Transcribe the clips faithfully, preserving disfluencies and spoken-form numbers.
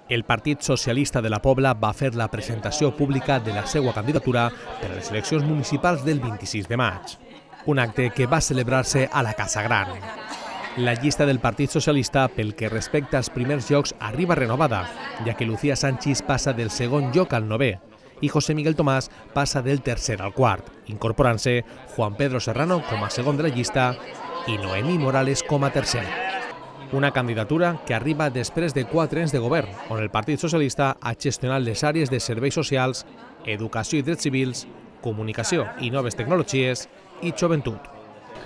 El Partit Socialista de la Pobla va fer la presentació pública de la seva candidatura per a les eleccions municipals del vint-i-sis de maig, un acte que va celebrar-se a la Casa Gran. La llista del Partit Socialista, pel que respecta als primers llocs, arriba renovada, ja que Lucía Sanchis passa del segon lloc al novè i José Miguel Tomàs passa del tercer al quart, incorporant-se Juan Pedro Serrano com a segon de la llista i Noemí Morales com a tercer. Una candidatura que arriba després de quatre anys de govern, on el Partit Socialista ha gestionat les àrees de serveis socials, educació i drets civils, comunicació i noves tecnologies i joventut.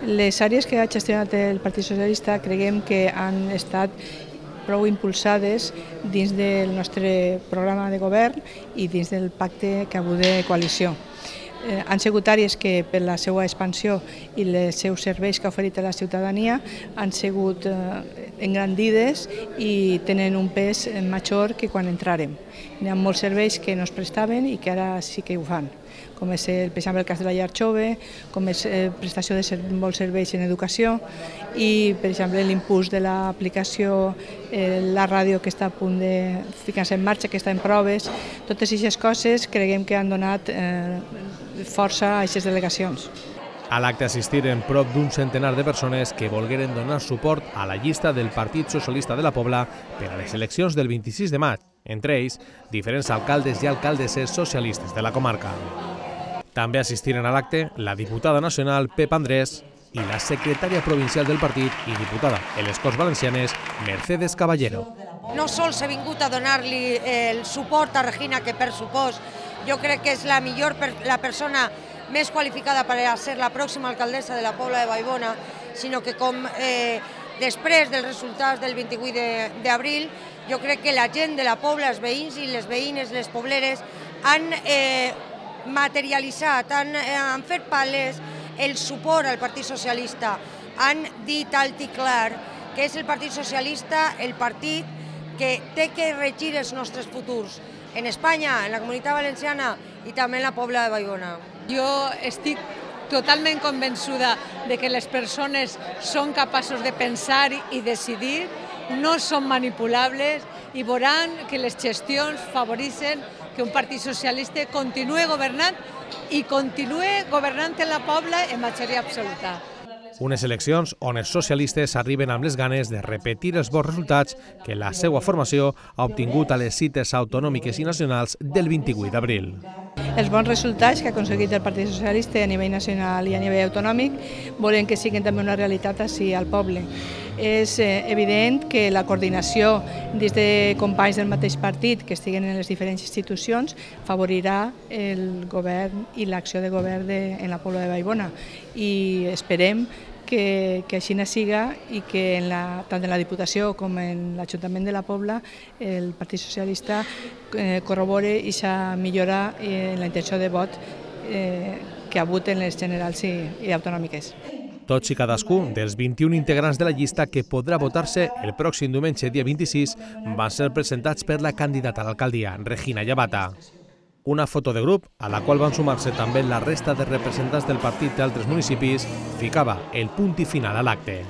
Les àrees que ha gestionat el Partit Socialista creiem que han estat prou impulsades dins del nostre programa de govern i dins del pacte que ha hagut de coalició. Eh, han sigut àrees que per la seva expansió i els seus serveis que ha oferit a la ciutadania han sigut eh, engrandides i tenen un pes major que quan entrarem. Hi ha molts serveis que no es prestaven i que ara sí que ho fan, com és el, per exemple, el cas de la llar jove, com és eh, prestació de ser, molts serveis en educació i, per exemple, l'impuls de l'aplicació, eh, la ràdio que està a punt de ficar-se en marxa, que està en proves. Totes aquestes coses creiem que han donat eh, força a aquestes delegacions. A l'acte assistiren prop d'un centenar de persones que volgueren donar suport a la llista del Partit Socialista de la Pobla per a les eleccions del vint-i-sis de maig, entre ells diferents alcaldes i alcaldesses socialistes de la comarca. També assistiren a l'acte la diputada nacional Pep Andrés i la secretària provincial del partit i diputada en les Corts Valencianes Mercedes Caballero. No sols he vingut a donar-li el suport a Regina, que per supost jo crec que és la millor, la persona més qualificada per a ser la pròxima alcaldessa de la Pobla de Vallbona, sinó que com eh, després dels resultats del vint-i-vuit d'abril, jo crec que la gent de la Pobla, els veïns i les veïnes, les pobleres, han eh, materialitzat, han, eh, han fet palès el suport al Partit Socialista. Han dit alt i clar que és el Partit Socialista el partit que té que regir els nostres futurs en Espanya, en la Comunitat Valenciana i també en la Pobla de Vallbona. Jo estic totalment convençuda de que les persones són capaços de pensar i decidir, no són manipulables i veuran que les gestions favoreixen que un partit socialista continuï governant i continuï governant en la Pobla en majoria absoluta. Unes eleccions on els socialistes arriben amb les ganes de repetir els bons resultats que la seva formació ha obtingut a les cites autonòmiques i nacionals del vint-i-vuit d'abril. Els bons resultats que ha aconseguit el Partit Socialista a nivell nacional i a nivell autonòmic volem que siguin també una realitat així al poble. És evident que la coordinació dins de companys del mateix partit que estiguen en les diferents institucions favorirà el govern i l'acció de govern de, en la Pobla de Vallbona i esperem que, que així no siga i que en la, tant en la Diputació com en l'Ajuntament de la Pobla el Partit Socialista eh, corrobore aquesta millora en la intenció de vot eh, que ha hagut en les generals i, i autonòmiques. Tots i cadascun dels vint-i-un integrants de la llista que podrà votar-se el pròxim diumenge dia vint-i-sis van ser presentats per la candidata a l'alcaldia, Regina Llavata. Una foto de grup, a la qual van sumar-se també la resta de representants del partit d'altres municipis, ficava el punt i final a l'acte.